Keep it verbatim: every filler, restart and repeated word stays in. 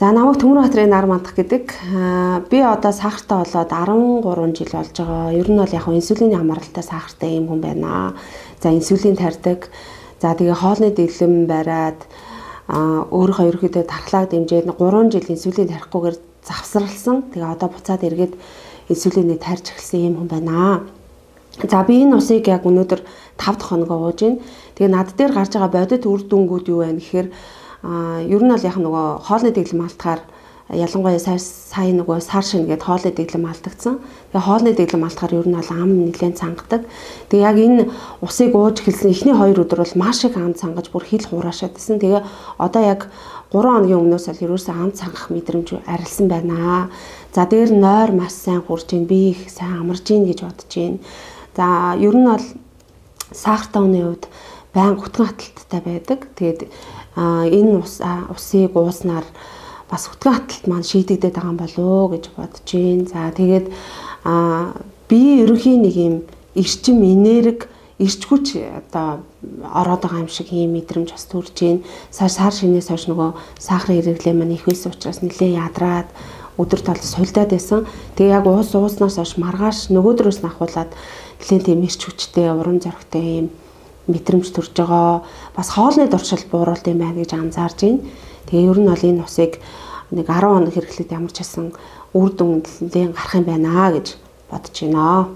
За намайг Төмөрбаатарын нар мандах гэдэг. Би одоо сахартай болоод арван гурван жил болж байгаа. Ер нь бол яг инсулины хамааралтай сахартай юм хүн байна. За инсулин тарьдаг. За тэгээ хоолны дэглэм бариад өөрийнхөө ерөөхдөө тархлааг дэмжээд гурван жил инсулин тарихгүйгээр завсралсан. Тэгээ одоо буцаад эргээд инсулинийг тарьж эхэлсэн юм хүн байна. За би энэ усыг яг өнөөдөр тав дахь хоногоо ууж байна. Тэгээ над дээр гарч байгаа бодит үр дүнгууд юу вэ гэхээр А ер нь бол яг нөгөө хоолны дэглэм алдахаар ялангуяа сая нөгөө сар шин гэдэг хоолны дэглэм алдагдсан. Тэгээ хоолны дэглэм алдахаар ер нь бол ам нэлээд цангадаг. Тэгээ яг энэ усыг ууж эхэлсэн эхний хоёр өдөр бол маш их ам цангаж бүр хил хураашаад байсан. Тэгээ одоо яг гурван хоногийн өмнөөс л ерөөсөө ам цангах мэдрэмж арилсан байна. За дээр нойр маш сайн хурж ийн, би их сайн амарж ийн гэж бодож байна. За ер нь бол сахартай хүний хувьд байнга хүтгэн хаталттай байдаг. Тэгээд А энэ ус усыг ууснаар бас хүтгэн хаталт маань шийдэгдээд байгаа юм болоо гэж бодож байна. За тэгээд а би ерөнхийн нэг юм эрчим энерги, эрч хүч одоо ороод байгаа юм шиг ийм мэдрэмж бас төрж байна. Сар сар шинээс хойш нөгөө сахарын хэрэглээ маань их байсан учраас нэлээд ядраад өдөр тал сулдаад байсан. Тэгээ яг уус ууснаас хойш маргааш нөгөөдрөөс нь ахуулаад нэлээд тийм эрч хүчтэй, урам зоригтой ийм мэдрэмж төрж байгаа. Бас хоолны дуршил бууруулт юм байна гэж анзаарж байна. Тэгээ ер нь бол энэ усыг нэг арван хоног хэрэглээд ямар ч байсан үр дүн нэлээд гарах юм байна гэж бодож байна.